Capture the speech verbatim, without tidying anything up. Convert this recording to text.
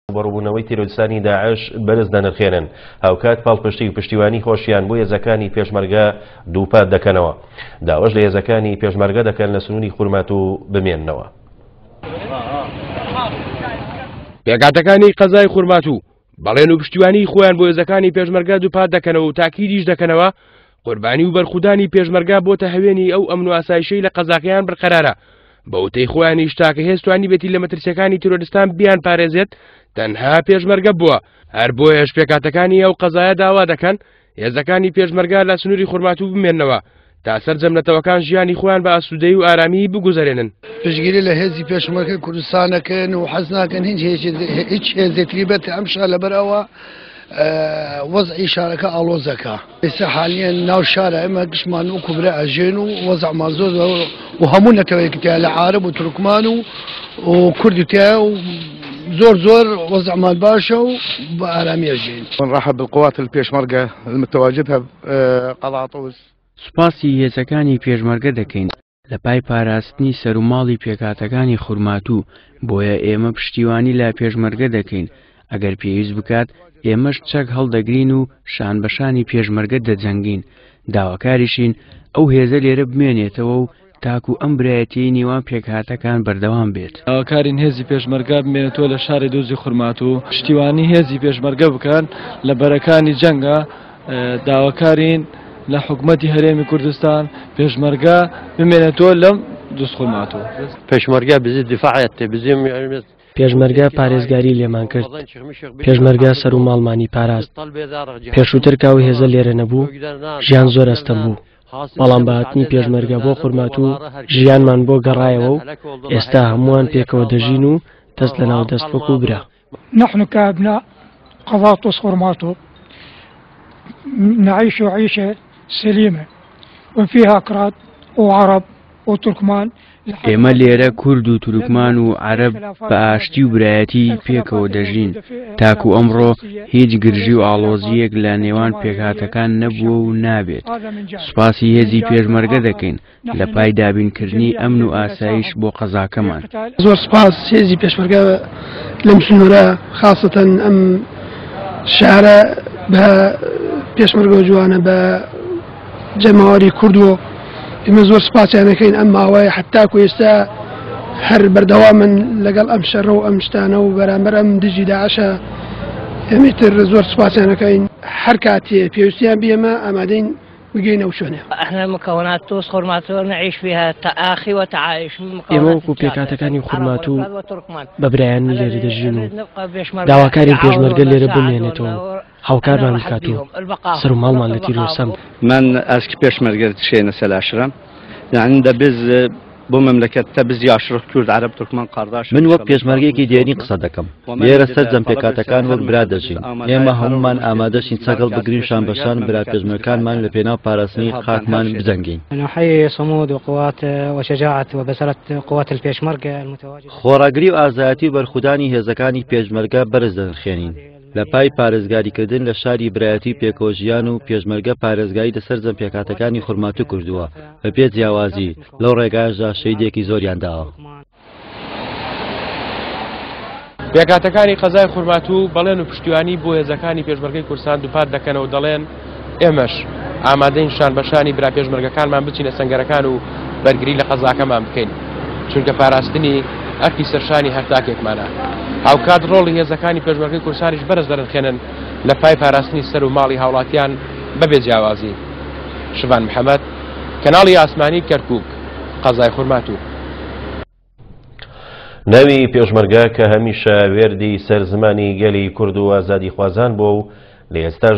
ڕووبەڕووبوونەوەی تیرۆریستانی داعش بەرز دەنرخێنن، هاوکات پاڵپشتی و پشتیوانی خۆشیان بۆ هێزەکانی پێشمەرگە دووپات دەکەنەوە. داواش لە هێزەکانی پێشمەرگە دەکەن لە سنووری خورماتوو بمێننەوە. پێکهاتەکانی قەزای خورماتوو بەڵێن و پشتیوانی خۆیان بۆ هێزەکانی پێشمەرگە دووپات دەکەنەوە و تاکیدیش دەکەنەوە قوربانی و بەرخودانی پێشمەرگە بۆتە هەوێنی ئەو ئەمن و ئاسایشەی لە قەزاکەیان بەرقەرارە. بە وتەی خۆیانیش تاکە هێز توانیبێتی لە مەترسیەکانی تیرۆریستان بیان پارێزێت تەنها پێشمەرگە بووە. هەر بۆیەش پێکهاتەکانی ئەو قەزایە داوا دەکەن هێزەکانی پێشمەرگە لە سنووری خورماتوو بمێننەوە تا سەرجەم نەتەوەکان ژیانی خۆیان بە ئاسوودەیی و ئارامی بگوزەرێنن. پشتگیری لە هێزی پێشمەرگە کوردستانەکەن و حەز ناکەن هیچ هێزێتری بێتە ئەم شار، لەبەر ئەوە وەزعی شارەکە ئاڵۆزەکە. ئێستا حالیان ناو شارە ئێمە گشتمان وەکو برا ئەژێن و وەزعمان زۆر و هەموو نەتەوەیەکی تیا لە عەرەب و تورکمان و کوردی تیا و زۆر زۆر وەزعمان باشە و بە ئارامی ئەژێن. نرحب بالقوات الپێشمەرگە المتواجدة بقضاء طوس. سوپاسی هێزەکانی پێشمەرگە دەکەین لە پای پاراستنی سەروماڵی پێکهاتەکانی خورماتوو، بۆیە ئێمە پشتیوانی لە پێشمەرگە دەکەین. ئەگەر پێویست بکات ئێمەش چەک هەڵدەگرین و شان بە شانی پێشمەرگە دەجەنگین. داواکاریشین ئەو هێزە لێرە بمێنێتەوە و تاکو ئەم برایەتیی نێوان پێکهاتەکان بەردەوام بێت. داواکارین هێزی پێشمەرگە بمێنێتەوە لە شاری دۆزی خورماتوو، پشتیوانی هێزی پێشمەرگە بکەن لە بەرەکانی جەنگە. داواکارین لە حکومەتی هەرێمی کوردستان پێشمەرگە بمێنێتەوە لەم دوز خورماتوو. پێشمەرگە بزی دیفاعەتێ بزیم پێشمەرگە پارێزگاری لێمان کرد، پێشمەرگە سەر و ماڵمانی پاراست. پێشووتر کە ئەو هێزە لێرە نەبوو ژیان زۆر ئەستەم بوو، بەڵام بە هاتنی پێشمەرگە بۆ خورماتوو ژیانمان بۆ گەڕایەوە و ئێستا هەمووان پێکەوە دەژین و دەست لەناو دەست وەکو برا. نحن كأبناء قضاء طوس خورماتو نعيش عيشة سليمة وفيها أكراد وعرب وتركمان. ئێمە لێرە کورد و تورکمان و عەرەب بە ئاشتی و برایەتی پێکەوە دەژین. تاکو ئەمڕۆ هیچ گرژی و ئاڵۆزیەک لە نێوان پێکهاتەکان نەبووە و نابێت. سوپاسی هێزی پێشمەرگە دەکەین لە پای دابینکردنی ئەمن و ئاسایش بۆ قەزاکەمان. زۆر سوپاس هێزی پێشمەرگە لەم سنوورە، خاصەتەن ئەم شارە بە پێشمەرگە جوانە بە جەماوەری کوردووە. ئێمە زۆر سوپاسیانەکەین ئەم ماوەیە حتاکو ئێستا هەر بەردەوامن لەگەڵ ئەم شەڕە و ئەم شتانە و بەرامبەر ئەم دژی داعشە. ئێمە تر زۆر سوپاسیانەکەین. هەر کاتێ پێویستیان بێمە ئامادەین بگەینە شوێنێ. احنا مكونات طوس خورماتو نعيش فيها تآخي وتعايش. ئێمە وەکو پێکهاتەکانی خورماتوو بە برایان لێرە دەژین و داواکارین پێشمەرگە لێرە بمێنێتەوە هاوکارمان بکات و سەر و ماڵمان لە تیرۆریستان. من eski peşmerge şeyine selaşırım. Yani de biz bu memlekette biz yaşırıq Kürt, Arap, Türkmen kardeş. من وەک پێشمەرگێکی دێنی قسە دەکەم. لێرە سەرجەم پێکهاتەکان وەک برا دەژین. ئێمە هەمومان ئامادەشین چەکەڵ بگرین شان بە شان برا پێشمەرگەکانمان لە پێناو پاراستنی خاکمان بجەنگین. نحيي صمود وقوات وشجاعة وبسالة قوات الپێشمەرگە المتواجدة. خۆڕاگری و ئازایەتی و بەرخودانی هێزەکانی پێشمەرگە بەرز دەنرخێنین لە پای پارێزگاریکردن لە شاری برایەتی پێکەوە ژیان و پێشمەرگە پارێزگاری لە سەرجەم پێکهاتەکانی خورماتوو کردووە بە پێ جیاوازی لەو ڕێگایشدا شەهیدێکی زۆریان داوە. پێکهاتەکانی قەزای خورماتوو بەڵێن و پشتیوانی بۆ هێزەکانی پێشمەرگەی کوردستان دووپات دەکەنەوە، دەڵێن ئێمەش ئامادەین شان بە شانی برا پێشمەرگەکانمان بچینە سەنگەرەکان و بەرگری لە قەزاکەمان بکەین، چونکە پاراستنی ئەرکی سەرشانی هەر تاکێکمانە. هاوکات ڕۆڵی هێزەکانی پێشمەرگەی کوردستانیش بەرز دەرنخێنن لە پای پاراستنی سەر و ماڵی هاوڵاتیان بەبێ جیاوازی. شڤان محەممەد، کەناڵی ئاسمانی کەرکووک، قەزای خورماتوو. ناوی پێشمەرگە کە هەمیشە وێردی سەر زمانی گەلی کورد و ئازادیخوازان بووە و لە ئێستاش